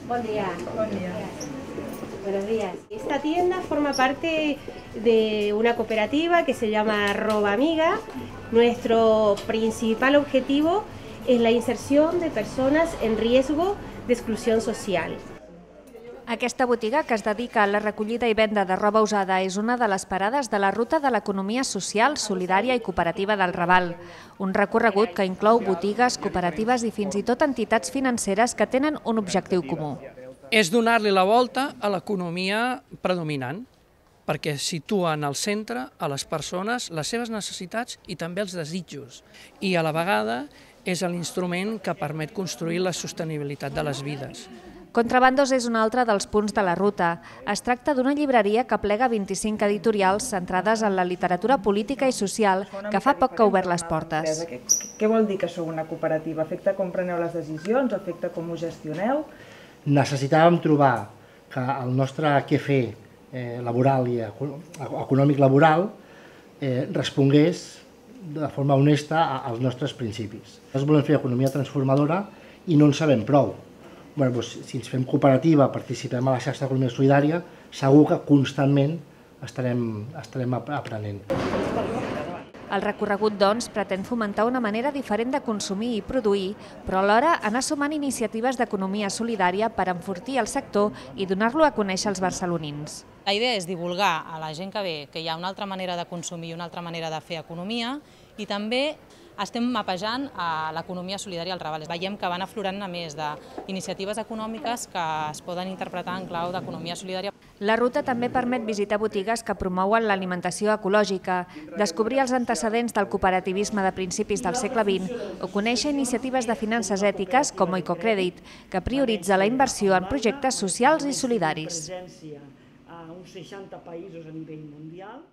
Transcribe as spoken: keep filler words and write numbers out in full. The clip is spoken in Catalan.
Buen día. Buen día. Buenos días. Esta tienda forma parte de una cooperativa que se llama Roba Amiga. Nuestro principal objetivo es la inserción de personas en riesgo de exclusión social. Aquesta botiga, que es dedica a la recollida i venda de roba usada, és una de les parades de la ruta de l'economia social, solidària i cooperativa del Raval. Un recorregut que inclou botigues, cooperatives i fins i tot entitats financeres que tenen un objectiu comú. És donar-li la volta a l'economia predominant, perquè situa en el centre a les persones, les seves necessitats i també els desitjos. I a la vegada és l'instrument que permet construir la sostenibilitat de les vides. Contrabandos és un altre dels punts de la ruta. Es tracta d'una llibreria que plega vint-i-cinc editorials centrades en la literatura política i social que fa poc que ha obert les portes. Què vol dir que sou una cooperativa? Afecta com preneu les decisions? Afecta com ho gestioneu? Necessitàvem trobar que el nostre què fer laboral i econòmic laboral respongués de forma honesta als nostres principis. Nosaltres volem fer economia transformadora i no en sabem prou. Bé, doncs, si ens fem cooperativa, participem a la xarxa d'economia solidària, segur que constantment estarem, estarem aprenent. El recorregut, doncs, pretén fomentar una manera diferent de consumir i produir, però alhora anar sumant iniciatives d'economia solidària per enfortir el sector i donar-lo a conèixer als barcelonins. La idea és divulgar a la gent que ve que hi ha una altra manera de consumir i una altra manera de fer economia i també estem mapejant l'economia solidària al Raval. Veiem que van aflorant a més d'iniciatives econòmiques que es poden interpretar en clau d'economia solidària. La ruta també permet visitar botigues que promouen l'alimentació ecològica, descobrir els antecedents del cooperativisme de principis del segle vint o conèixer iniciatives de finances ètiques com Ecocrèdit, que prioritza la inversió en projectes socials i solidaris. A uns seixanta països a nivell mundial.